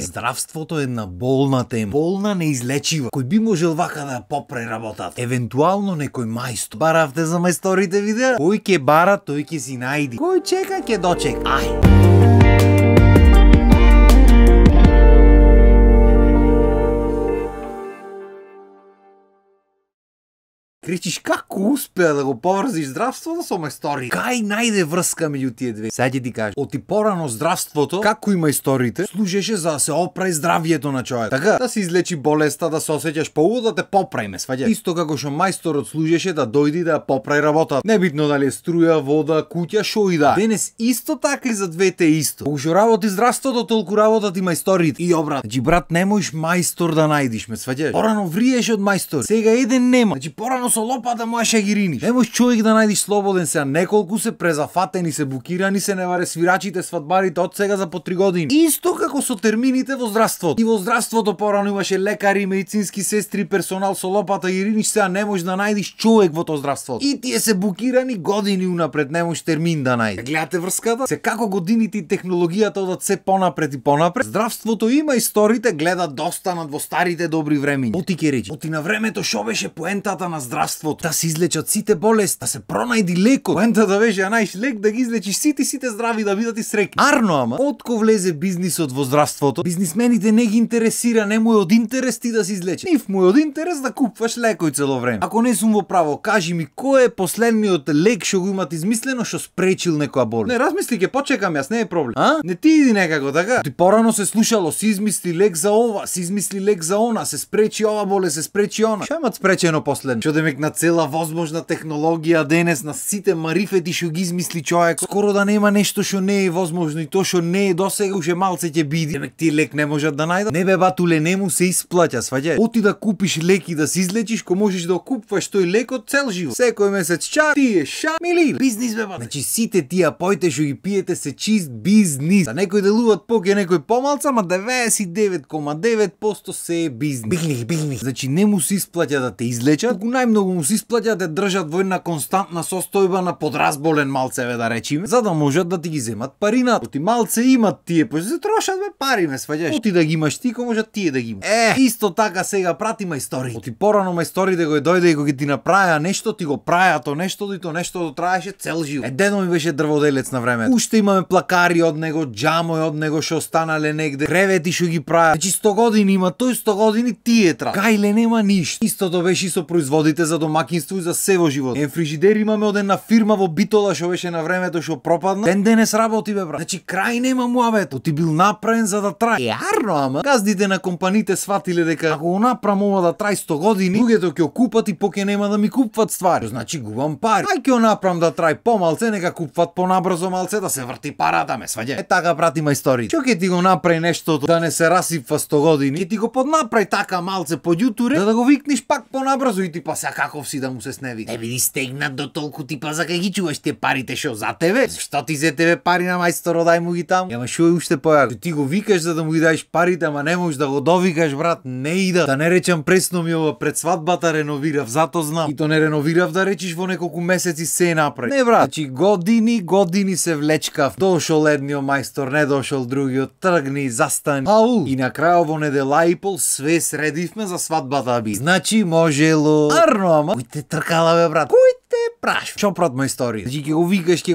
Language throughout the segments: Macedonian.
Здравството е една болна тема, болна неизлечива, кој би можел вака да ја попре работата. Евентуално некој мајстор. Баравте за мајсторите видеа? Кој ќе бара, тој ќе си најди. Кој чека, ќе дочека. Ај! Кричиш како успеа да го поврзиш здравството со мајстори? Кај најде врска меѓу тие две? Сега ќе ти кажам. Оти порано здравството, како и мајсторите, служеше за да се оправи здравјето на човек. Така, да се излечи болеста, да се осеќаш поубаво, да те поправиме, сваѓаш. Исто како што мајсторот служеше да дојде да ја поправи работата. Небитно дали е струја, вода, куќа, шо и да. Денес исто така и за двете исто. Колку работи здравството, толку работат и мајсторите. И обрат. Значи брат, не можеш мајстор да најдиш, ме сваѓаш. Порано вриеш од мајстор. Сега еден нема. Значи порано со лопата можеш да ги риниш. Не можеш човек да најдиш слободен сега. Неколку се презафатени, се букирани се неваре свирачите, свадбарите од сега за по 3 години. Исто како со термините во здравството. И во здравството порано имаше лекари, медицински сестри, персонал со лопата ги риниш, сега не можеш да најдиш човек во тоа здравството. И тие се букирани години унапред, не можеш термин да најдеш. Гледате врската? Се како годините и технологијата одат се понапред и понапред. Здравството има историите гледат да останат во старите добри времиња. Оти ќе речи. Оти на времето шо беше поентата на здравството? Да се излечат сите болести, да се пронајди лекот. Поентата беше најш лек да ги излечиш сите здрави да бидат и среќни. Арно ама, отко влезе бизнисот во здравството, бизнисмените не ги интересира, не му е од интерес ти да се излечи. Нив му е од интерес да купуваш лекој цело време. Ако не сум во право, кажи ми кој е последниот лек што го имат измислено што спречил некоја болест? Не, размисли, ќе почекам јас, не е проблем. Не ти иди некако така. Ти порано се слушало, се измисли лек за ова, се измисли лек за она, се спречи ова болест, се спречи она. Што имат спречено последно? Што демек на цела возможна технологија денес, на сите марифети што ги измисли човек, скоро да нема нешто што не е возможно и тоа што не е досега уште малце ќе биде. Демек тие лек не можат да најдат. Не бе батуле, не му се исплаќа, сваѓај. Оти да купиш лек и да се излечиш, ко можеш да купуваш тој лек од цел живот. Секој месец ча, тие ша, мили. Бизнис бе бат. Значи сите тие поите што ги пиете се чист бизнис. За некој делуваат поќе, некој помалку, ама 99,9% се е бизнис. Бизнис. Значи не му се исплаќа да те излечат, туку најмногу му се исплаќа да држат во една константна состојба на подразболен малцеве да речиме, за да можат да ти ги земат парината. Оти малце имат тие, па се трошат бе пари, ме сваѓаш. Оти да ги имаш ти, ко можат тие да ги имаш. Исто така сега прати мајстори. Оти порано мајсторите кои дојде и кога ти направија нешто, ти го праја то нешто, и то нешто траеше цел живот. Дедо ми беше дрводелец на времето. Уште имаме плакари од него, џамој од него што останале негде, кревети што ги праја. Значи 100 години има, тој 100 години тие тра. Кајле нема ништо. Истото беше и со производите за домаќинство и за се во живот. Фрижидер имаме од една фирма во Битола што беше на времето што пропадна. Ден денес работи бе брат. Значи крај нема муабето. Ти бил направен за да трае. Арно ама. Газдите на компаните сватиле дека ако го направам ова да трае 100 години, луѓето ќе купат и поќе нема да ми купуват ствари. Значи губам пари. Ај ќе го направам да трае помалце, нека купуват понабрзо малце да се врти парата, ме сваѓа. Така прати мајстори. Што ќе ти го направи нештото да не се расипва 100 години? Ќе ти го поднаправи така малце поѓутуре да го викниш пак понабрзо и ти па сега каков си да му се сневи. Не биди стегнат до толку типа за кај ги чуваш тие парите шо за тебе? Зашто ти зе тебе пари на мајсторо, дај му ги таму? Ама шо е уште појако? Ти го викаш за да му ги даеш парите, ама не можеш да го довикаш брат, не ида. Да не речам пресно ми ова пред свадбата реновирав, зато знам. И то не реновирав да речиш во неколку месеци се направи. Не брат, значи години се влечкав. Дошол едниот мајстор, не дошол другиот, тргни, застани. Ау! И на крај во недела и пол све средивме за свадбата би. Значи можело. Арно ама. Кој те тркала бе брат? Кој те прашва? Чопрат мајстори. Значи ќе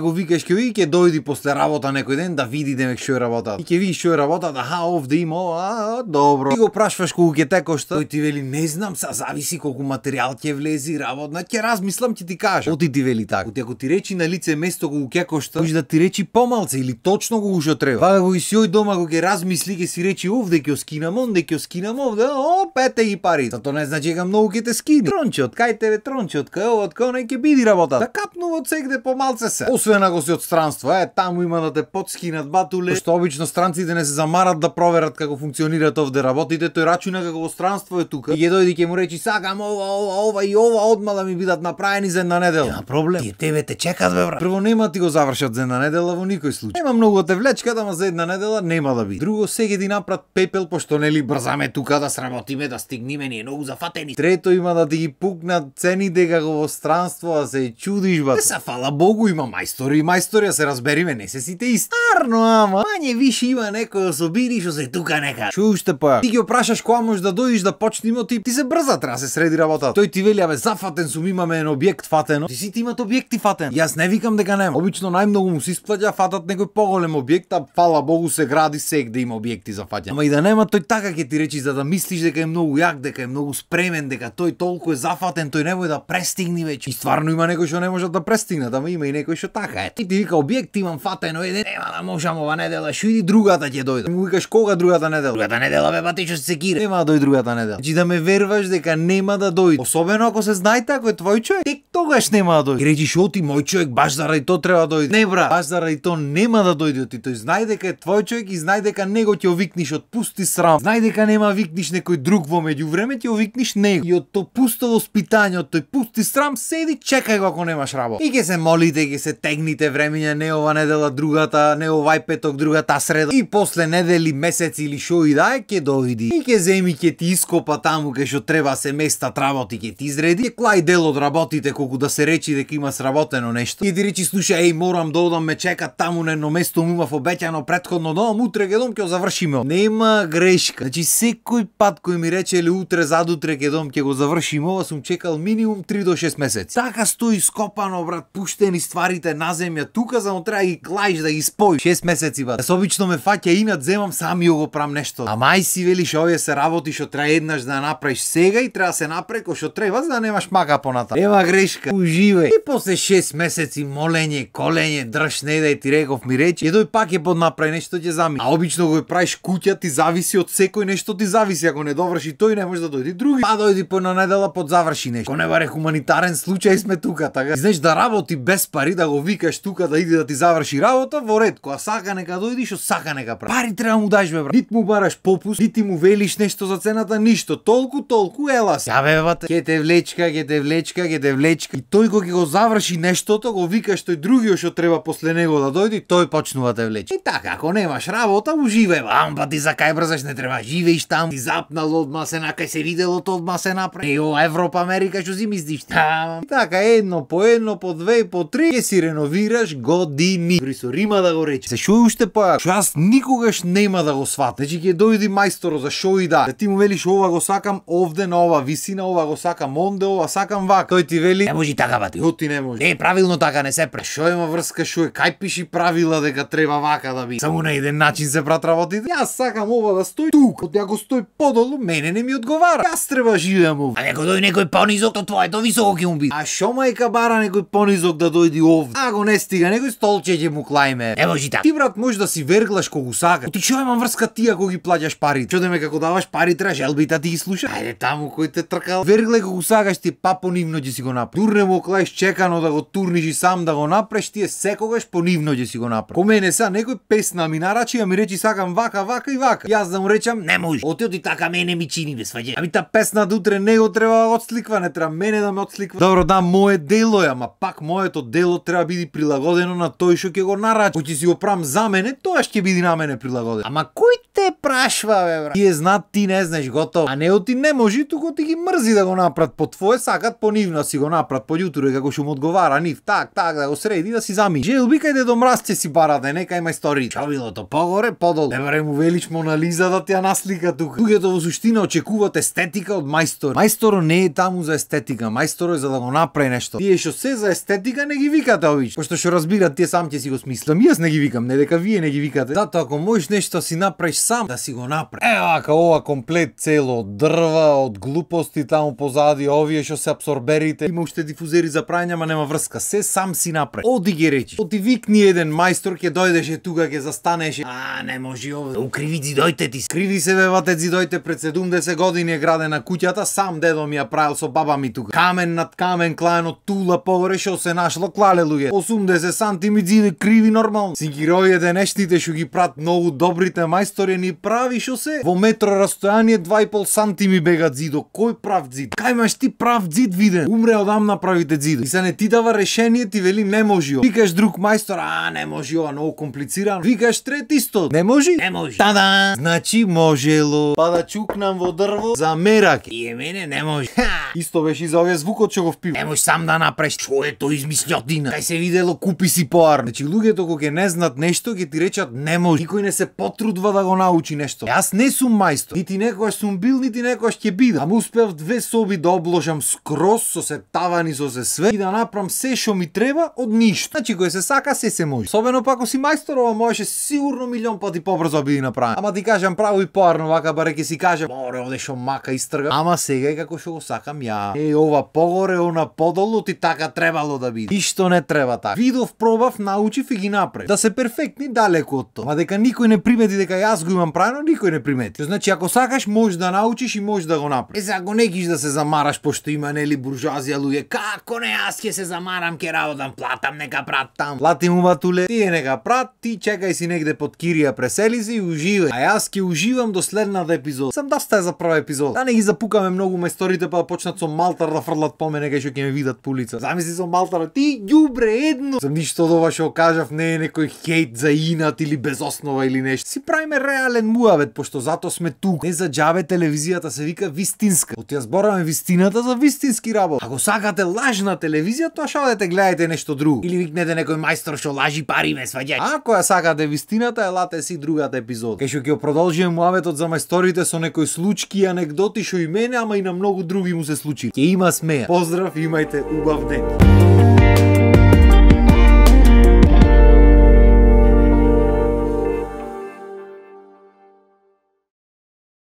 го викаш, ќе дојди после работа некој ден да види демек што е работата. И ќе видиш што е работата, овде има ова, добро. Ти го прашваш колку ќе те кошта? Тој ти вели не знам, са зависи колку материјал ќе влези, работна, ќе размислам, ќе ти кажам. Оти ти вели така. Оти ако ти речи на лице место колку ќе кошта, може да ти речи помалце или точно колку што треба. Вака го и сјој дома го ќе размисли, ќе си речи овде ќе скинам, онде ќе скинам, овде, пете ги пари. Тоа не значи дека многу ќе те скини. Тронче од кај тебе, тронче од кај ова, од кај онај ќе биди работа. Да капнува од сегде помалце се. Освен ако си од странство, таму има да те подскинат батуле. Што обично странците не се замарат да проверат како функционираат овде работите, тој рачуна како во странство е тука. И ќе дојде ќе му речи сакам ова и ова одма да ми бидат направени за една недела. Нема проблем. Тие тебе те чекат бе брат. Прво нема ти го завршат за една недела во никој случај. Нема многу те влечкат, ама за една недела нема да биде. Друго сега ти напрат пепел пошто нели брзаме тука да сработиме, да стигниме, ние многу зафатени. Трето има да ти ги пукнат цените како во странство, а се се чудиш бат. Се фала Богу има мајстори и мајстори, се разбериме, не се сите исти. Арно ама, мање више има некој особини што се тука нека. Што уште па? Ти ги опрашаш кога можеш да дојдеш да почнеме, ти се брза, треба се среди работата. Тој ти вели абе зафатен сум, имаме еден објект фатено. Ти сите имат објекти фатен. Јас не викам дека нема. Обично најмногу му се исплаќа фатат некој поголем објект, а фала Богу се гради сек да има објекти за фаќање. Ама и да нема, тој така ќе ти речи за да мислиш дека е многу јак, дека е многу спремен, дека тој толку е зафатен, тој не може да престигне веќе. И стварно има некој што не можат да престигнат, ама има и некој што така е. И ти вика објект имам фатено, нема да можам ова недела, што иди другата ќе дојде. Му викаш кога другата недела? Другата недела бе бати што се секира. Нема да дојде другата недела. Значи да ме верваш дека нема да дојде. Особено ако се знаете ако е твој човек, тек тогаш нема да дојде. И речиш оти мој човек баш заради тоа треба да дојде. Не бра, баш заради тоа нема да дојде ти. Тој знај дека е твој човек и знај дека него ќе овикниш од пусти срам. Знај дека нема викниш некој друг во меѓувреме, ќе овикниш него. И од тоа пусто воспитање, од тој пусти срам седи чекај го ако немаш работа. И ќе се молите, ќе се тегните времења, не ова недела другата, не овај петок другата среда. И после недели, месеци или шо и да е, ќе дојди. И ќе земи, ќе ти ископа таму кај што треба се места работи, ќе ти изреди. Ќе клај дел од работите колку да се речи дека има сработено нешто. И ти речи слушај, морам да одам, ме чека таму на едно место, му имав обеќано претходно дом, утре ќе дом ќе завршиме. Нема грешка. Значи секој пат кој ми рече или утре задутре ќе дом ќе го завршиме, ова сум чекал минимум 3 до 6 месеци. Така стои скопано брат, пуштени стварите на земја тука, само треба да ги клаиш да ги споиш. 6 месеци брат. Јас обично ме фаќа инат, земам сам и го правам нешто. А мај си велиш овие се работи што треба еднаш да направиш сега и треба се направи кој што треба за да немаш мака поната. Нема грешка. Уживај. И после 6 месеци молење, колење, држ не да ти реков ми речи, едој пак е поднаправи нешто ќе зами. А обично го правиш куќа, ти зависи од секој нешто ти зависи, ако не доврши тој не може да дојде други. Па дојди по една недела подзаврши нешто. Ако не баре хуманитарен случај сме тука, така. И знаеш да работи без пари, да го викаш тука да иде да ти заврши работа, во ред, кога сака нека дојди, што сака нека прави. Пари треба му даш бе брат. Нит му бараш попуст, нит му велиш нешто за цената, ништо. Толку ела се. Ја бе бате, ќе те влечка. И тој кога ќе го заврши нештото, го викаш тој другиот што треба после него да дојде, тој почнува да те влече. И така, ако немаш работа, уживај. Ампа ти за кај брзаш не треба, живееш таму. Ти запнал одма се накај се видело одма се направи. Еј ова Европа, Америка што си мислиш? Така едно по две и по три ќе си реновираш години. Дори со рима да го рече. Се шо уште па, што јас никогаш нема да го сватам. Значи ќе дојди мајсторо за шо и да ти му велиш ова го сакам овде на ова висина, ова го сакам онде, ова сакам вака. Тој ти вели не може така бати. Оти не може. Правилно така не се пре. Шо има врска шо е? Кај пиши правила дека треба вака да би. Само на еден начин се прат работите. Јас сакам ова да стои тук. Од ако стои подолу, мене не ми одговара. Јас треба живеам овде. А некој дојде некој понизок, то твоето високо ќе му биде. А шо мајка бара некој понизок да дојди овде? А го не стига, некој столче ќе му клајме. Не може така. Ти брат може да си верглаш кога сакаш. Ти шо има врска ти ако ги плаќаш пари? Што деме како даваш пари треба желбите ти ги слуша? Ајде таму кој те тркал. Верглај кога сакаш ти па понивно ќе си го направи. Турне му клаиш чекано да го турниш и сам да го направиш, ти секогаш понивно ќе си го направи. Ко мене са некој песна ми нарачи, а ми речи сакам вака и вака. Јас да му речам не може. Оти така мене ми чини бе сваѓа. Ами та песна утре него треба да отсликва, не треба мене да ме отсликва. Добро, да, мое дело е, ама пак моето дело треба биде прилагодено на тој што ќе го нарачи. Кој ќе си го правам за мене, тоа ќе биде на мене прилагодено. Ама кој те прашва бе брат? Тие знаат, ти не знаеш, готово. А не оти не може, туку ти ги мрзи да го направат по твое, сакат по нивно си го направат по јутро како што му одговара нив, так да го среди да си зами. Желби кајде до мразце си барате, нека има истории. Чавилото погоре, подолу. Не баре му велиш Мона Лиза да ти ја наслика тука. Луѓето во суштина очекуваат естетика од мајстор. Мајсторо не е таму за естетика, мајсторо е за да го направи нешто. Тие што се за естетика не ги викате овие. Пошто што разбират тие сам ќе си го смислам. Јас не ги викам, не дека вие не ги викате. Зато ако можеш нешто си направиш сам, да си го направи. Вака ова комплет цело од дрва, од глупости таму позади, овие што се абсорберите. Има уште дифузери за прајање, ама нема врска. Се сам си направи. Оди ги речи. Оти викни еден мајстор, ќе дојдеше тука, ќе застанеше. Не може овде. Укриви зидојте ти. Скриви се бе вате зидојте, пред 70 години е градена куќата, сам дедо ми ја правил со баба ми тука. Камен над камен клаено тула погоре што се нашло клале луѓе. 80 сантими зиде криви нормално. Синкиројите нештите што ги прат многу добрите мајстори ни прави шо се? Во метро растојание 2,5 санти ми бегат зидо. Кој прав зид? Кај имаш ти прав зид виден? Умре одам направите зидо. И се не ти дава решение, ти вели не може. Викаш друг мајстор, не може, ова многу комплицирано. Викаш трет исто, не може? Не може. Тада! Значи можело. Па да чукнам во дрво за мераке. И мене не може. Исто беше и за овие звукот што го впив. Не можеш сам да направиш. Што е тој измислјотина? Кај се видело, купи си поар. Значи луѓето кога ќе не знаат нешто, ќе ти речат не може. Никој не се потрудва да го научи нешто. Јас не сум мајстор. Нити некогаш сум бил, нити некогаш ќе бидам. Ама успеав 2 соби да обложам скроз со се тавани, со се све и да направам се што ми треба од ништо. Значи кој се сака се може. Особено пак ако си мајстор, ова можеше сигурно милион пати побрзо биде направен. Ама ти кажам право и поарно, вака баре ќе си кажам, море овде што мака истрга. Ама сега е како што го сакам ја. Ова погоре, она подолу, ти така требало да биде. Ништо не треба така. Видов, пробав, научив и ги направив. Да се перфектни далеку од тоа. Ма дека никој не примети дека јас го имам правено, никој не примети. Значи ако сакаш можеш да научиш и можеш да го направиш. Сега ако не гиш да се замараш пошто има нели буржуазија луѓе, како не јас ќе се замарам, ќе работам, платам, нека прат там. Плати му батуле, тие нека прат, ти чекај си негде под кирија, пресели се и уживај. А јас ќе уживам до следната епизода. Сам доста е за прва епизода. Да не ги запукаме многу мајсторите па да почнат со малтар да фрлат по мене кај што ќе ме видат по улица. Замисли со малтар, ти ѓубре едно. Сам ништо од ова што кажав не е некој хејт за инат или без основа или нешто. Си правиме реален муавет, пошто зато сме тук. Не за џабе телевизијата се вика вистинска. От ја збораме вистината за вистински работ. Ако сакате лажна телевизија, тоа што одете гледајте нешто друго. Или викнете некој мајстор што лажи пари ме сваѓај. Ако ја сакате вистината, елате си другата епизода. Кај што ќе продолжиме муаветот за мајсторите со некои случки и анегдоти што и мене, ама и на многу други му се случи. Ќе има смеја. Поздрав, имајте убав ден.